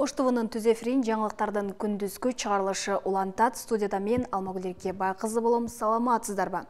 Ош ТВнын түз эфирин жаңылыктардын күндүзгү чыгарылышы улантат. Студияда мен Алмагүл Эркебай-кызы болом. Саламатсыздарбы?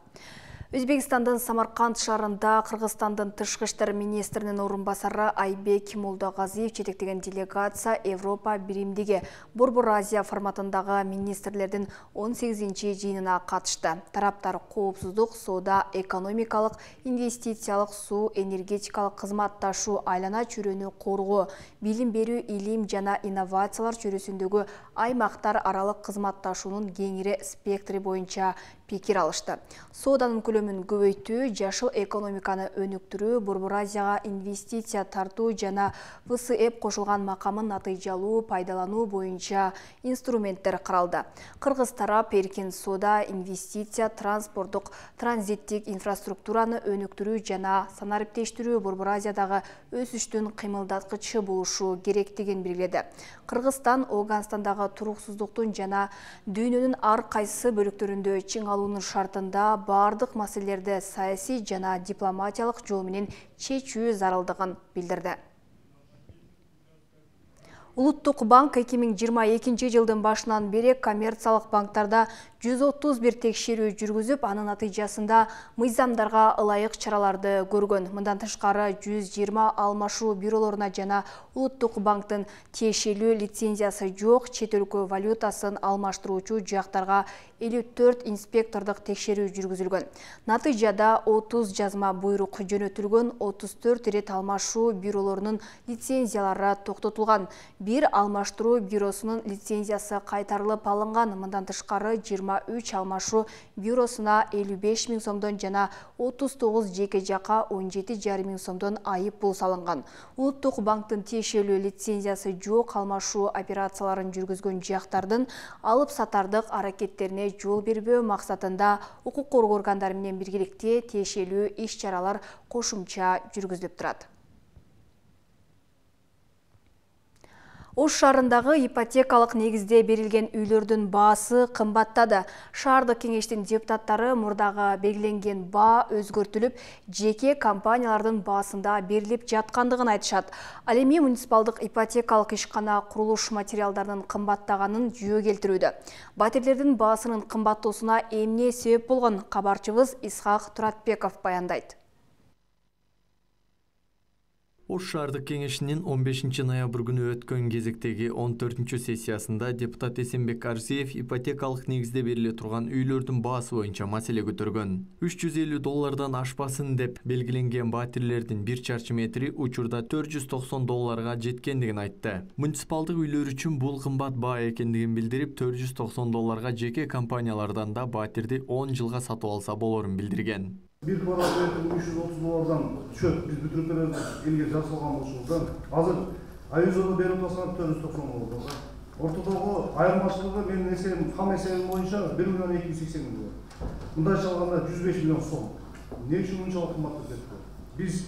Өзбекстандын Самарканд шаарында Кыргызстандын тышкы иштер министринин орун басары Айбек Молдогазиев жетектеген делегация Европа биримдиги Борбор Азия форматындагы министрлердин 18-чи жыйынына катышты. Тараптар коопсуздук, соода, экономикалык, инвестициялык, суу, энергетикалык кызматташуу, айлана чөйрөнү коргоо, билим берүү, илим жана инновациялар чөйрөсүндөгү аймактар аралык кызматташуунун кеңири спектри боюнча пикир алышты. Сооданын көлөмүн көбөйтүү, жашыл экономиканы өнүктүрүү, Борбор Азияга инвестиция тартуу жана ВСЭП кошулган макамын натыйжалуу пайдалануу боюнча инструменттер каралды. Кыргыз тарап эркин соода, инвестиция, транспорттук, транзиттик инфраструктураны өнүктүрүү жана санариптештирүү Борбор Азиядагы өсүштүн кыймылдаткычы болушу керектигин белгиледи. Кыргызстан Ооганстандагы туруксуздуктун жана дүйнөнүн ар кайсы бөлүктөрүндө чың алуунун шартында бардык маселелерди саясий жана дипломатиялык жол менен чечүү зарылдыгын билдирди. Улуттук банк 2022 жылдын башынан бери коммерциялык банктарда 131 текшерүү жүргүзүп, анын натыйжасында мыйзамдарга ылайык чараларды көргөн. Мындан тышкары 120 алмашуу бюролоруна жана Улуттук банктын тиешелүү лицензиясы жок чет өлкө валютасын алмаштыруучу жактарга 54 инспектордук текшерүү жүргүзүлгөн. Натыйжада 30 жазма буйрук жөнөтүлгөн, 34 ирет алмашуу бюролорунун лицензиялары токтотулган. Бир алмаштыруу бюросунун лицензиясы кайтарылып алынган. Мындан тышкары 23 алмашуу бюросуна 55 000 сомдон жана 39 жеке жакка 17,5 миң сомдон айып пул салынган. Улуттук банктын тиешелүү лицензиясы жок алмашуу операцияларын жүргүзгөн жактардын алып сатардык аракеттерине жол бербөө максатында укук коргоо органдары менен биргеликте тиешелүү иш-чаралар кошумча жүргүзүлүп турат. Ош шаарындагы ипотекалык негизде берилген үйлөрдүн баасы кымбаттады. Шаардык кеңештин депутаттары мурдагы белгиленген баа өзгөртүлүп, жеке компаниялардын баасында берилип жаткандыгын айтышат. Ал эми муниципалдык ипотекалык ишкана курулуш материалдарынын кымбаттаганын жүйө келтирүүдө. Батирлердин баасынын кымбаттоосуна эмне себеп болгон? Кабарчыбыз Исхак Туратбеков баяндайт. Ош шаардык кеңешинин 15 ноябрь күнү өткөн кезектеги 14 сессиясында депутат Эсенбек Арзиев ипотекалык негизде бериле турган үйлөрдүн баасы боюнча маселе көтөргөн. $350 ашпасын деп белгиленген батирлердин 1 чарчы метри учурда $490 жеткендигин айтты. Муниципалдык үйлөр үчүн бул кымбат баа экендигин билдирип, $490 жеке компаниялардан да батирди 10 жылга сатып алса болорун билдирген. Bir kvadratmetre $330'dan düşüp biz bütün ülkelerde ilgi жасалган болушубуздан азыр айызода берип атсак $490. Ортодогу айырмачылыгы менин эсебим, кам эсебим боюнча 1,280 миллион. Мындайча алганда 105 миллион сом. Эмне үчүн мынчалык кымбаттап кетти? Биз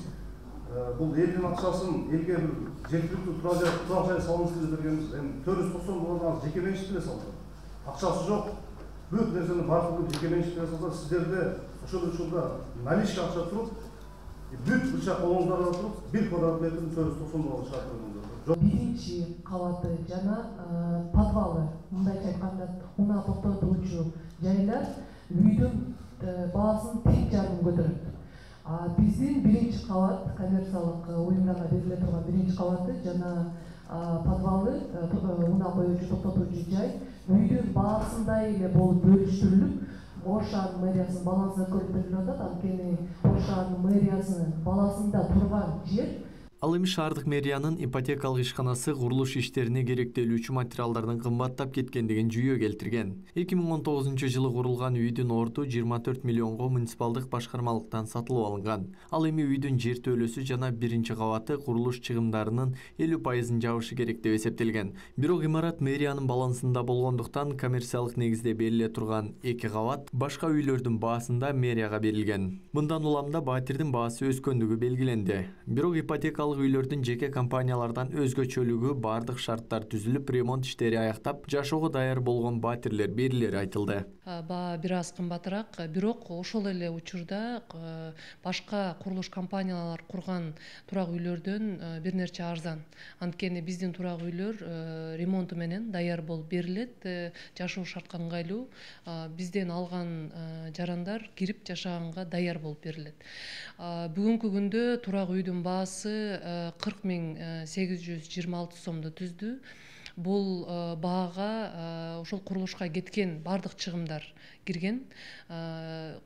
бул элдин акчасын элге бир жеткиликтүү турак жай салынсын деп бергенбиз. Эми $490 жеке менчик эле салды. Акчасы жок. Бүт нерсени бардыгын жеке менчик эле салса, сиздерде ошол наличка акча туруп, бүт быча колуңуздарда туруп, 1 квадрат метрин $490 чыгарып. Биринчи кабаты жана подвалы, мындайча айтканда, унаа токтотуучу жайлар үйдүн баасын 3,5 көтөрөт. Биздин биринчи кабат коммерциялык уюмдарга бериле турган биринчи кабаты жана подвалы, унаа коюучу токтотуучу жай үйдүн баасындай эле болуп бөлүштүрүлүп, Ош шаарынын мэриясынын балансына көрүп берилип атат. Анткени Ош шаарынын мэриясынын балансында турган жер. Ал эми шаардык мэриянын ипотекалык ишканасы курулуш иштерине керектелүүчү материалдардын кымбаттап кеткендигин жүйө келтирген. 2019 жылы курулган үйдүн орду 24 миллионго муниципалдык башкармалыктан сатылып алынган. Ал эми үйдүн жер төлөсү жана биринчи кабаты курулуш чыгымдарынын 50% жабышы керек деп эсептелген. Бирок имарат мэриянын балансында болгондуктан коммерциялык негизде бериле турган 2 кабат башка үйлөрдүн баасында мэрияга берилген. Мындан уламда батирдин баасы өскөндүгү белгиленди. Бирок ипотекалык үйлөрдүн жеке компаниялардан өзгөчөлүгү бардык шарттар түзүлүп, ремонт иштери аяктап, жашоого даяр болгон батирлер берилери айтылды. баа бир аз кымбатыраак, бирок ошол эле учурда башка курулуш компаниялар курган турак үйлөрдөн бир нерче арзан. Анткени биздин турак үйлөр ремонту менен даяр болуп берилет, жашоо шартка ыңгайлуу. Бизден алган жарандар кирип жашаганга даяр болуп берилет. Бүгүнкү күндө турак үйдүн баасы 40.826 сомду түздү. Бул баага ошол курулушка кеткен бардык чыгымдар кирген.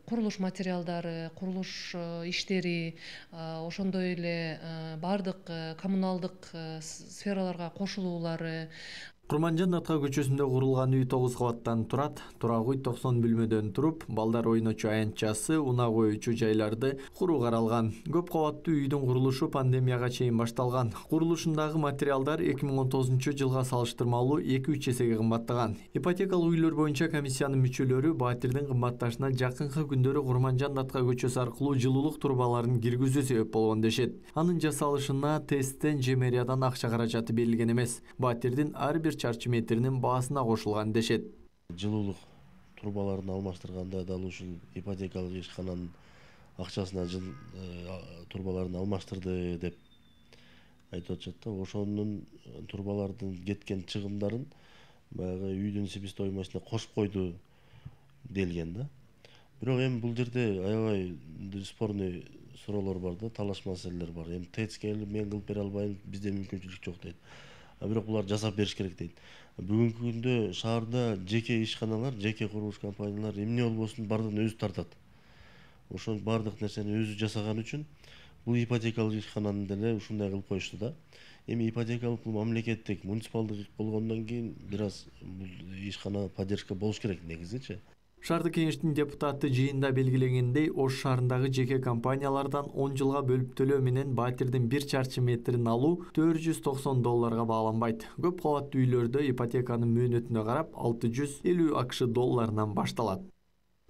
Курулуш материалдары, курулуш иштери, ошондой эле бардык коммуналдык сфераларга кошулуулары. Курманжан Атка көчөсүндө курулган үй 9 кабаттан турат. Турак үй 90 бөлмөдөн туруп, балдар ойночу аянтчасы, унаа коюучу жайларды куруу каралган. Көп кабаттуу үйдүн курулушу пандемияга чейин башталган. Курулушундагы материалдар 2019-жылга салыштырмалуу 2-3 эсеге кымбаттаган. Ипотекалык үйлөр боюнча комиссиянын мүчөлөрү батирдин кымбатташына жакынкы күндөрү Курманжан Атка көчөсү аркылуу жылуулук трубаларын киргизүү себеп болгон дешет. Анын жасалышына ТЭСтен же мэриядан акча каражаты берилген эмес. Батирдин ар бир чарчы метринин баасына кошулган дешет. Жылуулук трубаларын алмаштырганда дал ушул ипотекалык ишкананын акчасына трубаларын алмаштырды деп айтып атышат да. Ошонун трубалардын кеткен чыгымдарын баягы үйдүн себестоимостуна кошуп койду делген да. Бирок эми бул жерде аябай спорный суроолор бар да, талаш маселелер бар. Эми ТЭЦке мен кылып бере албайм, бизде мүмкүнчүлүк жок дейт. Бирок булар жасап бериш керек дейт. Бүгүнкү күндө шаарда жеке ишканалар, жеке курулуш компаниялар эмне болбосун бардыгын өзү тартат. Ошол бардык нерсени өзү жасаган үчүн бул ипотекалык ишкананы деле ушундай кылып коюшту да. Эми ипотекалык бул мамлекеттик, муниципалдык болгондон кийин бир аз бул ишкана поддержка болуш керек негизичи. Шаардык кеңештин депутаты жыйында белгилегендей, Ош шаарындагы жеке компаниялардан 10 жылга бөлүп төлөө менен батирдин 1 чарчы метрин алуу $490 бааланбайт. Көп кабаттуу үйлөрдө ипотеканын мөөнөтүнө карап $650 башталат.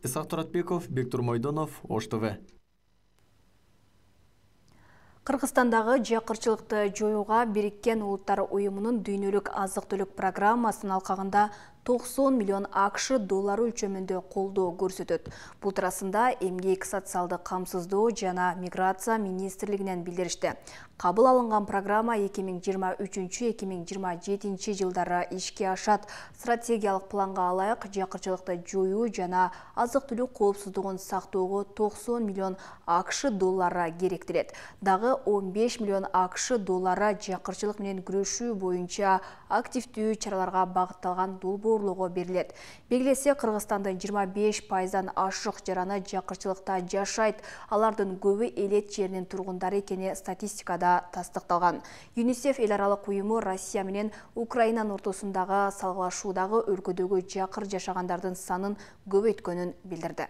Исак Туратбеков, Бектур Мойдонов, Ош ТВ. Кыргызстандагы жакырчылыкты жоюуга Бириккен Улуттар Уюмунун дүйнөлүк азык-түлүк программасынын алкагында $90 миллион ақш өлчөмүндө колдоо көрсөтөт. Бул туурасында Эмгек, социалдык камсыздоо жана миграция министрлигинен билдиришти. Кабыл алынган программа 2023-2027 жылдары ишке ашат. Стратегиялык планга алайык жакырчылыкты жоюу жана азык-түлүк коопсуздугун сактоого $90 миллион ақш керектелет. Дагы $15 миллион ақш жакырчылык менен күрөшүү боюнча активдүү чараларга багытталган долбоорлоого берилет. Белгилесе, Кыргызстандын 25%дан ашык жараны жакырчылыкта жашайт. Алардын көбү элет жеринин тургундары экени статистикада тастыкталган. ЮНИСЕФ эл аралык уюму Россия менен Украинанын ортосундагы салгылашуудагы өлкөдөгү жакыр жашагандардын санын көбөйткөнүн билдирди.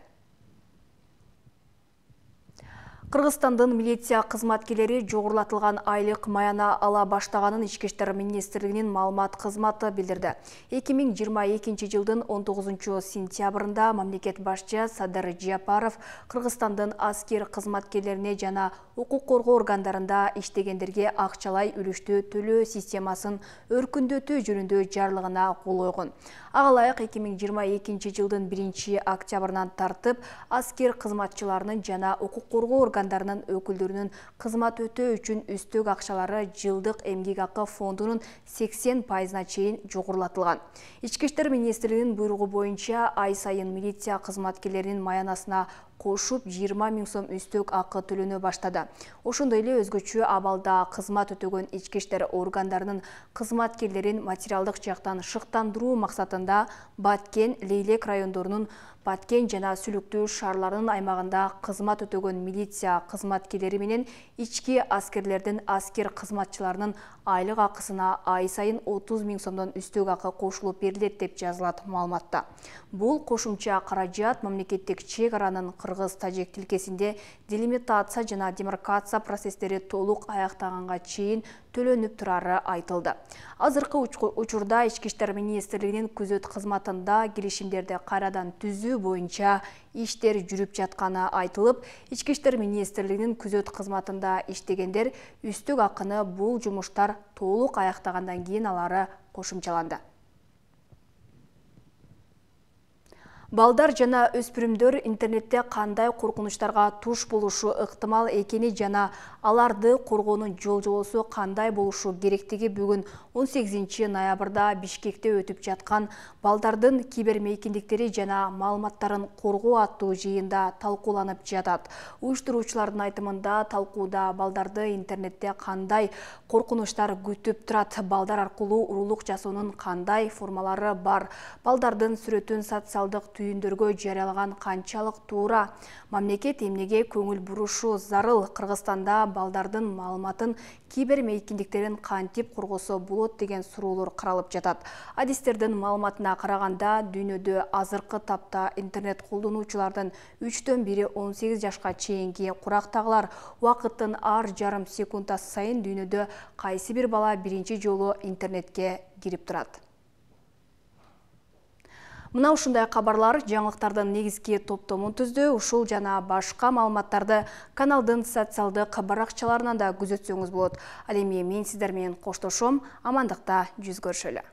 Кыргызстандын милиция кызматкерлери жогорулатылган айлык маяна ала баштаганын Ички иштер министрлигинин маалымат кызматы билдирди. 2022 жылдын 19 сентябрында мамлекет башчы Садыр Жапаров Кыргызстандын аскер кызматкерлерине жана укук коргоо органдарында иштегендерге акчалай үлүштүү төлөө системасын өркүндөтүү жөнүндө жарлыгына кол койгон. Ага ылайык 2022 жылдын 1 октябрынан тартып аскер кызматчыларынын жана укук коргоо органдарынын өкүлдөрүнүн кызмат өтөө үчүн үстөк акчалары жылдык эмгек акы фондунун 80%-на чейин жогорулатылган. Ички иштер министрлигинин буйругу боюнча ай сайын милиция кызматкерлеринин маянасына кошуп 20 000 сом үстөк акы төлөнө баштады. Ошондой эле өзгөчө абалда кызмат өтөгөн ички иштер органдарынын кызматкерлерин материалдык жактан шыктандыруу максатында Баткен, Лейлек райондорунун Баткен жана Сүлүктүү шаарларынын аймагында кызмат өтөгөн милиция кызматкерлери менен ички аскерлердин аскер кызматчыларынын айлык акысына ай сайын 30 000 сомдон үстөк акы кошулуп берилет деп жазылат маалыматта. Бул кошумча каражат мамлекеттик чек аранын кыргыз-тажик тилкесинде делимитация жана демаркация процесстери толук аяктаганга чейин төлөнүп турары айтылды. Азыркы учурда Ички иштер министрлигинин күзөт кызматында келишимдерди кайрадан түзүү боюнча иштер жүрүп жатканы айтылып, Ички иштер министрлигинин күзөт кызматында иштегендер үстөк акыны бул жумуштар толук аяктагандан кийин алары кошумчаланды. Балдар жана өспүрүмдөр интернетте кандай коркунучтарга туш болушу ыктымал экени жана аларды коргоонун жол-жобосу кандай болушу керектиги бүгүн 18 ноябрда Бишкекте өтүп жаткан балдардын кибермейкиндиктери жана маалыматтарын коргоо аттуу жыйында талкууланып жатат. Уюштуруучулардын айтымында талкууда балдарды интернетте кандай коркунучтар күтүп турат, балдар аркылуу уруулук жасоонун кандай формалары бар, балдардын сүрөтүн социалдык түйүндөргө жарыялаган канчалык туура, мамлекет эмнеге көңүл бурушу зарыл, Кыргызстанда балдардын маалыматын кибермейкиндиктерин кантип коргосо болот деген суроолор каралып жатат. Адистердин маалыматына караганда, дүйнөдө азыркы тапта интернет колдонуучулардын 1/3 18 жашка чейинки курактагылар. Убакыттын ар жарым секундасы сайын дүйнөдө кайсы бир бала биринчи жолу интернетке кирип турат. Мына ушундай кабарлар жаңылыктардын негизги топтомун түздү. Ушул жана башка маалыматтарды каналдын социалдык баракчаларынан да күзөтсөңүз болот. Ал эми мен сиздер менен коштошом. Амандыкта жүз көрүшөлү.